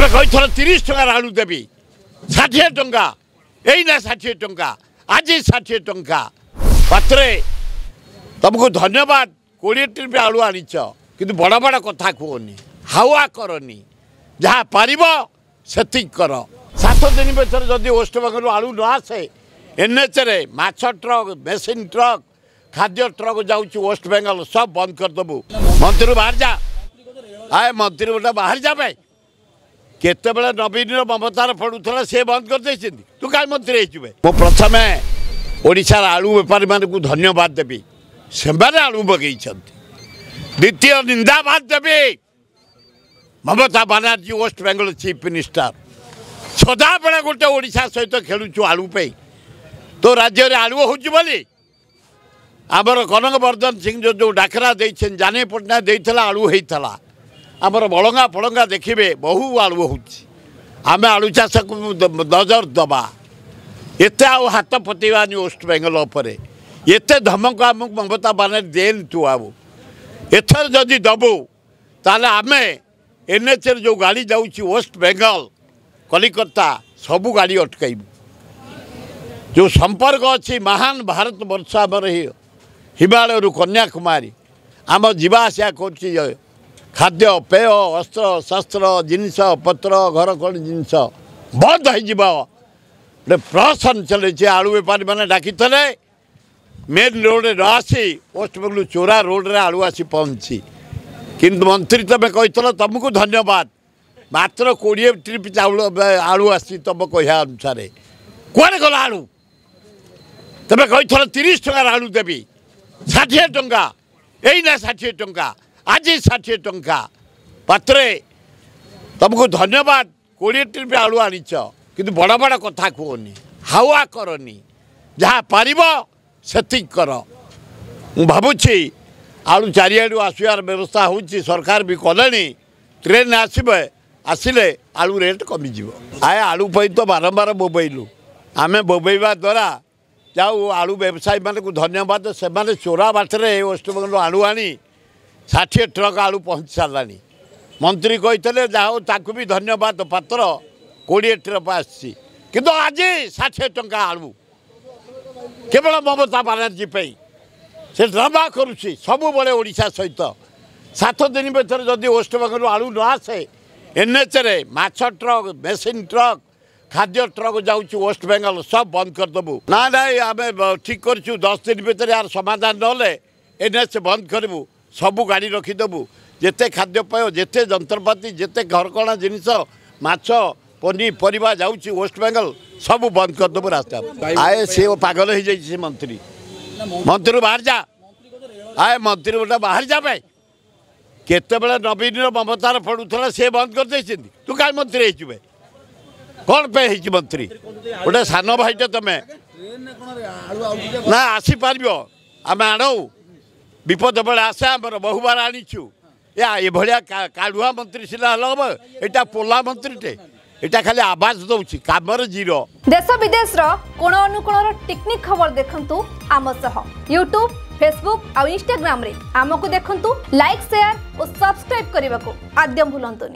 ତମେ କହିଥିଲ 30 ଟଙ୍କାର ଆଳୁ ଦେବି, 60 ଟଙ୍କା ଏଇନା, 60 ଟଙ୍କା ଆଜି, 60 ଟଙ୍କା ପାତ୍ରେ। ତମକୁ ଧନ୍ୟବାଦ, 20 ଟ୍ରିପ୍ ଆଳୁ ଆଣିଛ, କିନ୍ତୁ ବଡ଼ ବଡ଼ କଥା କୁହନି, ହାୱା କରନି, ଯାହା ପାରିବ ସେତିକି କର। 7 ଦିନ ଭିତରେ ଯଦି ୱେଷ୍ଟବେଙ୍ଗଲରୁ ଆଳୁ ନ ଆସେ, ଏନ୍ଏଚ୍ରେ ମାଛ ଟ୍ରକ୍, ମେସିନ୍ ଟ୍ରକ୍, ଖାଦ୍ୟ ଟ୍ରକ୍ ଯାଉଛି ୱେଷ୍ଟବେଙ୍ଗଲ, ସବୁ ବନ୍ଦ କରିଦେବୁ। ମନ୍ତ୍ରୀରୁ ବାହାରି ଯା, ଆଏ ମନ୍ତ୍ରୀ ଗୋଟେ ବାହାରି ଯା ଭାଇ। କେତେବେଳେ ନବୀନର ମମତାର ପଡ଼ୁଥିଲା, ସେ ବନ୍ଦ କରିଦେଇଛନ୍ତି, ତୁ କାହିଁ ମନ୍ତ୍ରୀ ହେଇଛୁ ବେ? ମୁଁ ପ୍ରଥମେ ଓଡ଼ିଶାର ଆଳୁ ବେପାରୀମାନଙ୍କୁ ଧନ୍ୟବାଦ ଦେବି, ସେମାନେ ଆଳୁ ମଗେଇଛନ୍ତି। ଦ୍ୱିତୀୟ ନିନ୍ଦାବାଦ ଦେବି ମମତା ବାନାର୍ଜୀ, ୱେଷ୍ଟବେଙ୍ଗଲ ଚିଫ୍ ମିନିଷ୍ଟର। ସଦାବେଳେ ଗୋଟେ ଓଡ଼ିଶା ସହିତ ଖେଳୁଛୁ ଆଳୁ ପାଇଁ। ତୋ ରାଜ୍ୟରେ ଆଳୁ ହେଉଛି ବୋଲି ଆମର କନକ ବର୍ଦ୍ଧନ ସିଂ ଯେଉଁ ଡାକରା ଦେଇଛନ୍ତି, ଜାନୀ ପଟ୍ଟନାୟକ ଦେଇଥିଲା, ଆଳୁ ହେଇଥିଲା। ଆମର ବଳଙ୍ଗା ଫଳଙ୍ଗା ଦେଖିବେ ବହୁ ଆଳୁ ହେଉଛି। ଆମେ ଆଳୁ ଚାଷକୁ ନଜର ଦେବା, ଏତେ ଆଉ ହାତ ପତେଇବାନି ୱେଷ୍ଟବେଙ୍ଗଲ ଉପରେ। ଏତେ ଧମକ ଆମକୁ ମମତା ବାନାର୍ଜୀ ଦେନି ତୁ, ଆଉ ଏଥର ଯଦି ଦେବୁ ତାହେଲେ ଆମେ ଏନ୍ଏଚ୍ରେ ଯେଉଁ ଗାଡ଼ି ଯାଉଛି ୱେଷ୍ଟବେଙ୍ଗଲ କଲିକତା, ସବୁ ଗାଡ଼ି ଅଟକାଇବୁ। ଯେଉଁ ସମ୍ପର୍କ ଅଛି ମହାନ ଭାରତ ବର୍ଷ ଆମର, ହିମାଳୟରୁ କନ୍ୟାକୁମାରୀ ଆମ ଯିବା ଆସିବା କରୁଛି, ଖାଦ୍ୟ ପେୟ, ଅସ୍ତ୍ର ଶସ୍ତ୍ର, ଜିନିଷ ପତ୍ର, ଘର କଣ ଜିନିଷ ବନ୍ଦ ହେଇଯିବ। ଗୋଟେ ପ୍ରହସନ ଚାଲିଛି। ଆଳୁ ବେପାରୀମାନେ ଡାକିଥିଲେ, ମେନ୍ ରୋଡ଼ରେ ନ ଆସି ୱେଷ୍ଟବେଙ୍ଗଲ ଚୋରା ରୋଡ଼ରେ ଆଳୁ ଆସି ପହଞ୍ଚି। କିନ୍ତୁ ମନ୍ତ୍ରୀ ତମେ କହିଥିଲ, ତମକୁ ଧନ୍ୟବାଦ, ମାତ୍ର 20 ଟ୍ରିପ୍ ଚାଉଳ ଆଳୁ ଆସିଛି ତମ କହିବା ଅନୁସାରେ। କୁଆଡ଼େ ଗଲା ଆଳୁ? ତମେ କହିଥିଲ 30 ଟଙ୍କାର ଆଳୁ ଦେବି, 60 ଟଙ୍କା ଏଇନା, 60 ଟଙ୍କା ଆଜି, 60 ଟଙ୍କା ପାତ୍ରେ। ତମକୁ ଧନ୍ୟବାଦ, 20 ଟ୍ରିପ୍ ଆଳୁ ଆଣିଛ, କିନ୍ତୁ ବଡ଼ ବଡ଼ କଥା କୁହନି, ହାୱା କରନି, ଯାହା ପାରିବ ସେତିକି କର। ମୁଁ ଭାବୁଛି ଆଳୁ ଚାରିଆଡ଼ୁ ଆସିବାର ବ୍ୟବସ୍ଥା ହେଉଛି, ସରକାର ବି କଲେଣି, ଟ୍ରେନ୍ ଆସିବେ, ଆସିଲେ ଆଳୁ ରେଟ୍ କମିଯିବ। ଆଏ ଆଳୁ ପାଇଁ ତ ବାରମ୍ବାର ବୋବେଇଲୁ ଆମେ। ବୋବେଇବା ଦ୍ୱାରା ଯାଉ ଆଳୁ ବ୍ୟବସାୟୀମାନଙ୍କୁ ଧନ୍ୟବାଦ, ସେମାନେ ଚୋରା ବାଟରେ ୱେଷ୍ଟବେଙ୍ଗଲରୁ ଆଳୁ ଆଣି 60 ଟ୍ରକ୍ ଆଳୁ ପହଞ୍ଚି ସାରିଲାଣି। ମନ୍ତ୍ରୀ କହିଥିଲେ, ଯାହା ହଉ ତାକୁ ବି ଧନ୍ୟବାଦ, ପାତ୍ର 20 ଟ୍ରକ୍ ଆସିଛି, କିନ୍ତୁ ଆଜି 60 ଟଙ୍କା ଆଳୁ କେବଳ ମମତା ବାନାର୍ଜୀ ପାଇଁ। ସେ ଡ୍ରାମା କରୁଛି ସବୁବେଳେ ଓଡ଼ିଶା ସହିତ। 7 ଦିନ ଭିତରେ ଯଦି ୱେଷ୍ଟବେଙ୍ଗଲରୁ ଆଳୁ ନ ଆସେ, ଏନ୍ଏଚ୍ରେ ମାଛ ଟ୍ରକ୍, ମେସିନ୍ ଟ୍ରକ୍, ଖାଦ୍ୟ ଟ୍ରକ୍ ଯାଉଛି ୱେଷ୍ଟବେଙ୍ଗଲ, ସବୁ ବନ୍ଦ କରିଦେବୁ। ନା ନାଇଁ, ଆମେ ଠିକ୍ କରିଛୁ, 10 ଦିନ ଭିତରେ ଏହାର ସମାଧାନ ନହେଲେ ଏନ୍ଏଚ୍ ବନ୍ଦ କରିବୁ, ସବୁ ଗାଡ଼ି ରଖିଦେବୁ, ଯେତେ ଖାଦ୍ୟପେୟ, ଯେତେ ଯନ୍ତ୍ରପାତି, ଯେତେ ଘରକଣା ଜିନିଷ, ମାଛ, ପନିପରିବା ଯାଉଛି ୱେଷ୍ଟବେଙ୍ଗଲ, ସବୁ ବନ୍ଦ କରିଦେବୁ ରାସ୍ତା। ଆଏ ସେ ପାଗଳ ହେଇଯାଇଛି ସେ ମନ୍ତ୍ରୀ। ମନ୍ତ୍ରୀରୁ ବାହାରି ଯା, ଆଏ ମନ୍ତ୍ରୀ ଗୋଟେ ବାହାରି ଯା ଭାଇ। କେତେବେଳେ ନବୀନର ମମତାର ପଡ଼ୁଥିଲା, ସେ ବନ୍ଦ କରିଦେଇଛନ୍ତି, ତୁ କାହିଁ ମନ୍ତ୍ରୀ ହେଇଛୁ ବେ? କ'ଣ ପାଇଁ ହେଇଛି ମନ୍ତ୍ରୀ? ଗୋଟେ ସାନ ଭାଇଟା ତମେ ନା ଆସିପାରିବ? ଆମେ ଆଣଉ, ବିପଦ ବେଳେ ଆସେ, ଆମର ବହୁବାର ଆଣିଛୁ। ଏ ଏଭଳିଆ କାଢୁଆ ମନ୍ତ୍ରୀ ସିନା ହେଲେ ହବ, ଏଇଟା ପୋଲା ମନ୍ତ୍ରୀଟେ, ଏଇଟା ଖାଲି ଆବାଜ ଦେଉଛି, କାମରେ ଜିରୋ। ଦେଶ ବିଦେଶର କୋଣ ଅନୁକୋଣର ଟିକ୍ନିକ୍ ଖବର ଦେଖନ୍ତୁ ଆମ ସହ ୟୁଟ୍ୟୁବ୍, ଫେସବୁକ୍ ଆଉ ଇନଷ୍ଟାଗ୍ରାମରେ ଆମକୁ ଦେଖନ୍ତୁ। ଲାଇକ୍, ସେୟାର ଓ ସବସ୍କ୍ରାଇବ୍ କରିବାକୁ ଆଦ୍ୟ ଭୁଲନ୍ତୁନି।